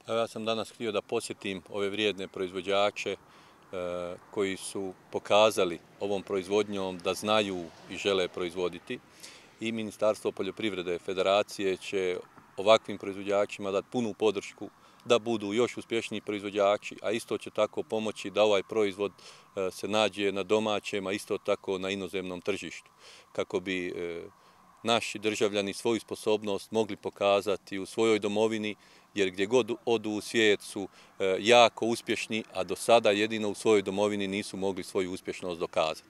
Ja sam danas htio da posjetim ove vrijedne proizvođače koji su pokazali ovom proizvodnjom da znaju i žele proizvoditi. I Ministarstvo poljoprivrede Federacije će ovakvim proizvođačima dati punu podršku da budu još uspješniji proizvođači, a isto će tako pomoći da ovaj proizvod se nađe na domaćem, a isto tako na inozemnom tržištu, kako bi naši državljani svoju sposobnost mogli pokazati u svojoj domovini, jer gdje god odu u svijet su jako uspješni, a do sada jedino u svojoj domovini nisu mogli svoju uspješnost dokazati.